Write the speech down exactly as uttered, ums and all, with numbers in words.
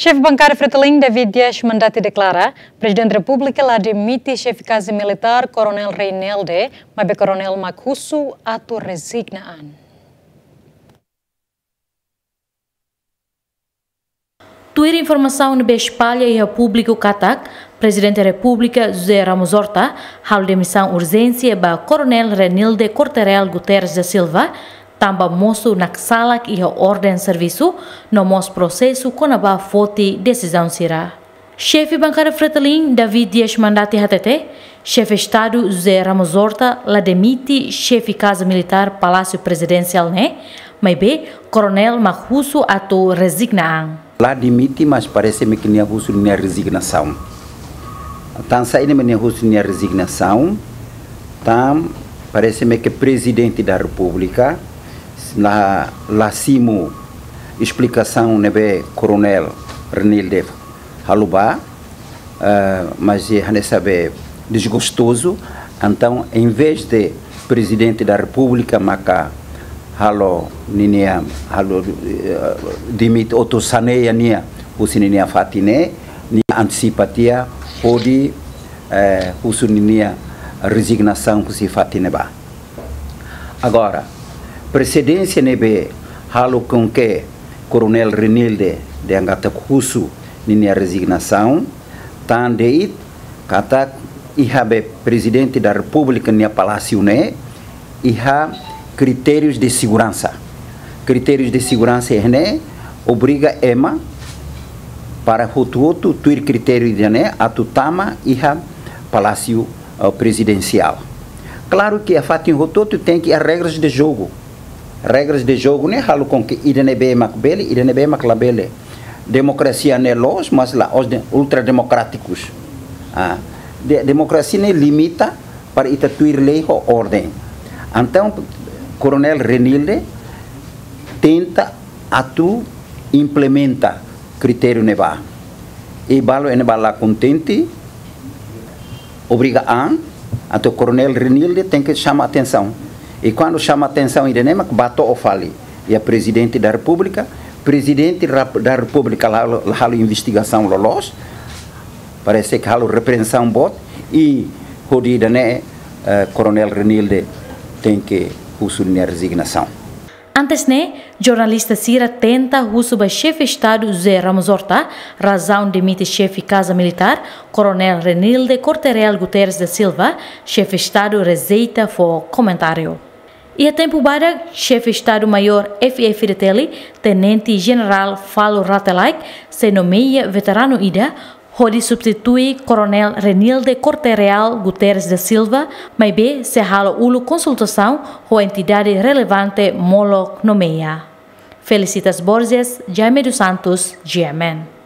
Xefe Bankada Fretilin, David Dias Mandati, deklara Prezidente Repúblika la demite Xefe Kaza Militár, Koronel Reinilde, maibé Koronel mak husu atu rezigna an. Tuir informasaun ne'ebé espalla iha públiku katak Prezidente Repúblika José Ramos Horta halo demisaun urjénsia ba Koronel Reinilde Corte-Real Guterres da Silva, tanba mosu naksalak iha orden servisu, no mós prosesu kona-ba foti desizaun sira. Xefe Bankada Fretilin, David Dias Mandati, hatete, Xefe Estadu José Ramos Horta la demite Xefe Kaza Militár, Palásiu Prezidensiál ne'e, maibé Koronel mak husu atu rezigna an. La demite, mas parese-me ke nia husu nia rezignasaun. Tan saida mak nia husu nia rezignasaun, tan parese-me ke Prezidente da Repúblika la, la simu esplikasaun ne'ebé Koronel Reinilde halo ba, eh, mas é hanesan be desgostozu. Entaun, em vez de Prezidente da Repúblika maka halo ninia, halo, eh, demite, atu saneia nia husi ninia fatin ne'e, nia antesipa tiha hodi, eh, husu ninia rezignasaun husi fatin ne'ebá. Agora, presedénsia ne'ebé halo com que Koronel Reinilde dehan katak husu ninia rezignasaun, tan de'it katak iha be Prezidente da Repúblika nia palásiu ne'e iha kritérius de seguransa. Kritérius de seguransa ne'e obriga ema para hotu-hotu tuir kritériu ida-ne'e atu tama iha Palásiu, eh, Prezidensiál. Klaru ke iha fatin hotu-hotu tenke iha regras de jogu. Regras de jogu ne'e halo com que ida ne'ebé mak bele, ida ne'ebé mak labele. Demokrasia ne'e loos, mas la'ós de ultrademokrátikus. Ah, de-, demokrasia ne'e limita para ita tuir lei ho orden. Entaun, Koronel Reinilde tenta atu implementa kritériu ne'ebá. I balu ne'ebá la kontente, obriga an, entaun Koronel Reinilde tenke xama atensaun. I kuandu xama atensaun ida-ne'e mak bá to'o fali iha Prezidente da Repúblika, Prezidente rap-, da Repúblika la, la halo investigasaun loloos, parese ke halo repreensaun boot, i hodi ida-ne'e, eh, Koronel Reinilde tenke husu nia rezignasaun. Antes ne'e, jornalista sira tenta husu ba Xefe Estadu José Ramos Horta razaun demite Xefe Kaza Militár, Koronel Reinilde Corte-Real Guterres da Silva, Xefe Estadu rejeita fó komentáriu. Iha tempu badak, Xefe Estadu Maiór F-FDTL, Tenente Jenerál Falur Rate Laek, sei nomeia veteranu ida hodi substitui Koronel Reinilde Corte-Real Guterres da Silva, maibé sei halo uluk konsultasaun ho entidade relevante molok nomeia. Felicitas Borges, Jaime dos Santos, G M N.